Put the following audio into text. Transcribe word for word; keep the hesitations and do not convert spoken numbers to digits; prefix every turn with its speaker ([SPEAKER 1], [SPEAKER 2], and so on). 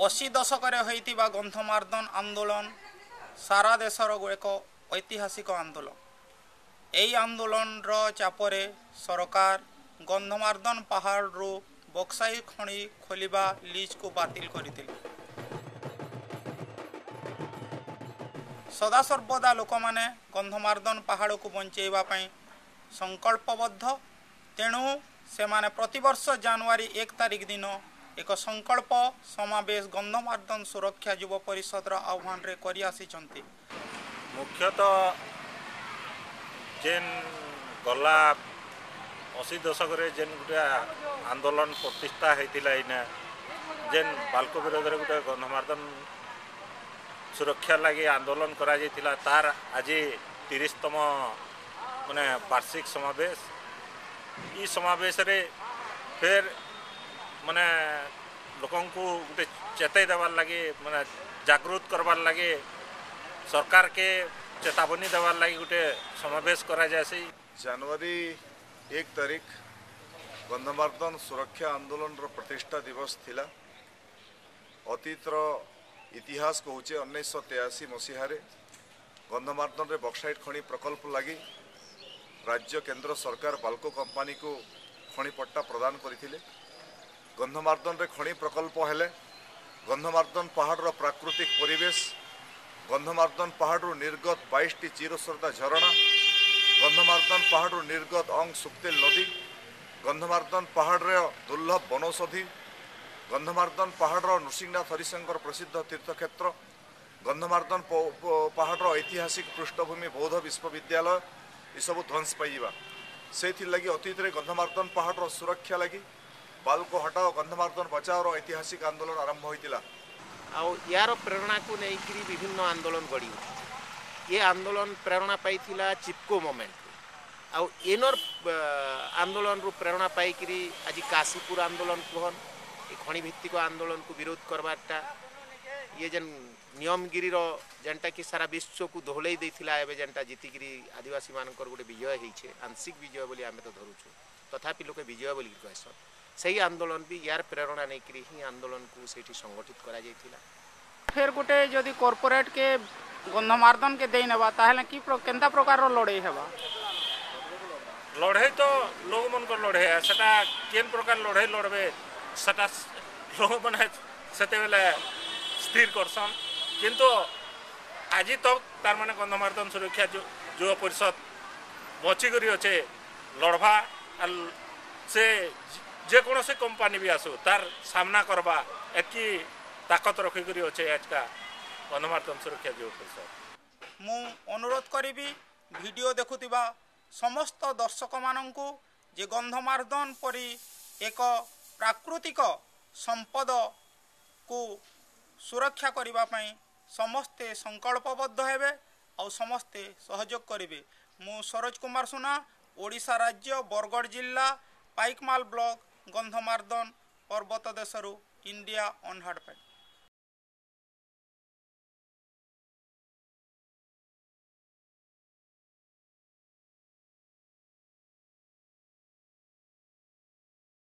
[SPEAKER 1] ଅଶୀ ଦଶକରେ ହୋଇଥିବା ଗନ୍ଧମାର୍ଦ୍ଦନ ଆନ୍ଦୋଳନ ସାରା ଦେଶର ଏକ ଐତିହାସିକ ଆନ୍ଦୋଳନ। ଏହି ଆନ୍ଦୋଳନର ଚାପରେ ସରକାର ଗନ୍ଧମାର୍ଦ୍ଦନ ପାହାଡ଼ରୁ ବକ୍ସାଇଟ୍ ଖଣି ଖୋଲିବା ଲିଜ୍କୁ ବାତିଲ କରିଥିଲେ। ସଦାସର୍ବଦା ଲୋକମାନେ ଗନ୍ଧମାର୍ଦ୍ଦନ ପାହାଡ଼କୁ ବଞ୍ଚେଇବା ପାଇଁ ସଂକଳ୍ପବଦ୍ଧ। ତେଣୁ ସେମାନେ ପ୍ରତିବର୍ଷ ଜାନୁଆରୀ ଏକ ତାରିଖ ଦିନ ଏକ ସଂକଳ୍ପ ସମାବେଶ ଗନ୍ଧମାର୍ଦ୍ଦନ ସୁରକ୍ଷା ଯୁବ ପରିଷଦର ଆହ୍ୱାନରେ କରି ଆସିଛନ୍ତି।
[SPEAKER 2] ମୁଖ୍ୟତଃ ଯେନ୍ ଗଲା ଅଶୀ ଦଶକରେ ଯେନ୍ ଗୋଟେ ଆନ୍ଦୋଳନ ପ୍ରତିଷ୍ଠା ହେଇଥିଲା, ଏଇନା ଯେନ୍ ବାଲ୍କୋ ବିରୋଧରେ ଗୋଟେ ଗନ୍ଧମାର୍ଦ୍ଦନ ସୁରକ୍ଷା ଲାଗି ଆନ୍ଦୋଳନ କରାଯାଇଥିଲା, ତାର ଆଜି ତିରିଶତମ ମାନେ ବାର୍ଷିକ ସମାବେଶ। ଇ ସମାବେଶରେ ଫେର୍ ମାନେ ଲୋକଙ୍କୁ ଗୋଟେ ଚେତାଇ ଦେବାର୍ ଲାଗି, ମାନେ ଜାଗୃତ କରବାର୍ ଲାଗି, ସରକାରକେ ଚେତାବନୀ ଦେବାର୍ ଲାଗି ଗୋଟେ ସମାବେଶ କରାଯାଏସି।
[SPEAKER 3] ଜାନୁଆରୀ ଏକ ତାରିଖ ଗନ୍ଧମାର୍ଦ୍ଦନ ସୁରକ୍ଷା ଆନ୍ଦୋଳନର ପ୍ରତିଷ୍ଠା ଦିବସ ଥିଲା। ଅତୀତର ଇତିହାସ କହୁଛେ, ଉଣେଇଶହ ତେୟାଅଶୀ ମସିହାରେ ଗନ୍ଧମାର୍ଦ୍ଦନରେ ବକ୍ସାଇଟ୍ ଖଣି ପ୍ରକଳ୍ପ ଲାଗି ରାଜ୍ୟ କେନ୍ଦ୍ର ସରକାର ବାଲ୍କୋ କମ୍ପାନୀକୁ ଖଣି ପଟ୍ଟା ପ୍ରଦାନ କରିଥିଲେ। ଗନ୍ଧମାର୍ଦ୍ଦନରେ ଖଣି ପ୍ରକଳ୍ପ ହେଲେ ଗନ୍ଧମାର୍ଦ୍ଦନ ପାହାଡ଼ର ପ୍ରାକୃତିକ ପରିବେଶ, ଗନ୍ଧମାର୍ଦ୍ଦନ ପାହାଡ଼ରୁ ନିର୍ଗତ ବାଇଶଟି ଚିରସ୍ରୋତା ଝରଣା, ଗନ୍ଧମାର୍ଦ୍ଦନ ପାହାଡ଼ରୁ ନିର୍ଗତ ଅଙ୍ଗ ସୁକ୍ତେଲ ନଦୀ, ଗନ୍ଧମାର୍ଦ୍ଦନ ପାହାଡ଼ର ଦୁର୍ଲଭ ବନୌଷଧି, ଗନ୍ଧମାର୍ଦ୍ଦନ ପାହାଡ଼ର ନୃସିଂହନାଥ ହରିଶଙ୍କର ପ୍ରସିଦ୍ଧ ତୀର୍ଥକ୍ଷେତ୍ର, ଗନ୍ଧମାର୍ଦ୍ଦନ ପାହାଡ଼ର ଐତିହାସିକ ପୃଷ୍ଠଭୂମି ବୌଦ୍ଧ ବିଶ୍ୱବିଦ୍ୟାଳୟ ଏସବୁ ଧ୍ୱଂସ ପାଇଯିବା। ସେଇଥିର୍ଲାଗି ଅତୀତରେ ଗନ୍ଧମାର୍ଦ୍ଦନ ପାହାଡ଼ର ସୁରକ୍ଷା ଲାଗି ବାଲ୍କୋ ହଟାଓ ଗନ୍ଧମାର୍ଦ୍ଦନ ବଚାଓର ଐତିହାସିକ ଆନ୍ଦୋଳନ ଆରମ୍ଭ ହୋଇଥିଲା।
[SPEAKER 4] ଆଉ ୟାର ପ୍ରେରଣାକୁ ନେଇକରି ବିଭିନ୍ନ ଆନ୍ଦୋଳନ ଗଢ଼ି ଉଠିଛି। ଏ ଆନ୍ଦୋଳନ ପ୍ରେରଣା ପାଇଥିଲା ଚିପକୋ ମୁଭମେଣ୍ଟରୁ, ଆଉ ଏନର ଆନ୍ଦୋଳନରୁ ପ୍ରେରଣା ପାଇକରି ଆଜି କାଶୀପୁର ଆନ୍ଦୋଳନ କୁହନ୍, ଏ ଖଣି ଭିତ୍ତିକ ଆନ୍ଦୋଳନକୁ ବିରୋଧ କରବାରଟା, ଇଏ ଯେନ୍ ନିୟମଗିରିର ଯେନ୍ଟାକି ସାରା ବିଶ୍ୱକୁ ଦୋହଲେଇ ଦେଇଥିଲା, ଏବେ ଯେନ୍ଟା ଜିତିକିରି ଆଦିବାସୀମାନଙ୍କର ଗୋଟେ ବିଜୟ ହେଇଛେ, ଆଂଶିକ ବିଜୟ ବୋଲି ଆମେ ତ ଧରୁଛୁ, ତଥାପି ଲୋକେ ବିଜୟ ବୋଲିକି କହେସନ୍, ସେଇ ଆନ୍ଦୋଳନ ବି ୟାର ପ୍ରେରଣା ନେଇକରି ହିଁ ଆନ୍ଦୋଳନକୁ ସେଇଠି ସଂଗଠିତ କରାଯାଇଥିଲା।
[SPEAKER 1] ଫେର୍ ଗୋଟେ ଯଦି କର୍ପୋରେଟ୍କେ ଗନ୍ଧମାର୍ଦ୍ଦନକେ ଦେଇ ନେବା, ତାହେଲେ କି କେନ୍ତା ପ୍ରକାରର ଲଢ଼େଇ ହେବା?
[SPEAKER 2] ଲଢ଼େଇ ତ ଲୋକମାନଙ୍କର ଲଢ଼େଇ, ସେଟା କେନ୍ ପ୍ରକାର ଲଢ଼େଇ ଲଢ଼ବେ ସେଟା ଲୋକମାନେ ସେତେବେଲେ ସ୍ଥିର କରସନ୍। କିନ୍ତୁ ଆଜି ତକ୍ ତାର ମାନେ ଗନ୍ଧମାର୍ଦ୍ଦନ ସୁରକ୍ଷା ଯୁବ ପରିଷଦ ବଞ୍ଚିକରି ଅଛେ ଲଢ଼ବା, ଆର୍ ସେ ଯେକୌଣସି କମ୍ପାନୀ ବି ଆସୁ ତାର ସାମ୍ନା କରବା ଏତ୍କି ତାକତ ରଖିକରି ଅଛେ ଆଜକା ଗନ୍ଧମାର୍ଦ୍ଦନ ସୁରକ୍ଷା ଯୁବ ପରିଷଦ।
[SPEAKER 1] ମୁଁ ଅନୁରୋଧ କରିବି ଭିଡ଼ିଓ ଦେଖୁଥିବା ସମସ୍ତ ଦର୍ଶକମାନଙ୍କୁ ଯେ ଗନ୍ଧମାର୍ଦ୍ଦନ ପରି ଏକ ପ୍ରାକୃତିକ ସମ୍ପଦକୁ ସୁରକ୍ଷା କରିବା ପାଇଁ ସମସ୍ତେ ସଂକଳ୍ପବଦ୍ଧ ହେବେ ଆଉ ସମସ୍ତେ ସହଯୋଗ କରିବେ। ମୁଁ ସରୋଜ କୁମାର ସୁନା, ଓଡ଼ିଶା ରାଜ୍ୟ ବରଗଡ଼ ଜିଲ୍ଲା ପାଇକମାଲ ବ୍ଲକ ଗନ୍ଧମାର୍ଦ୍ଦନ ପର୍ବତ ଦେଶରୁ ଇଣ୍ଡିଆ ଅନହାର୍ଡ଼ ପାଇଁ।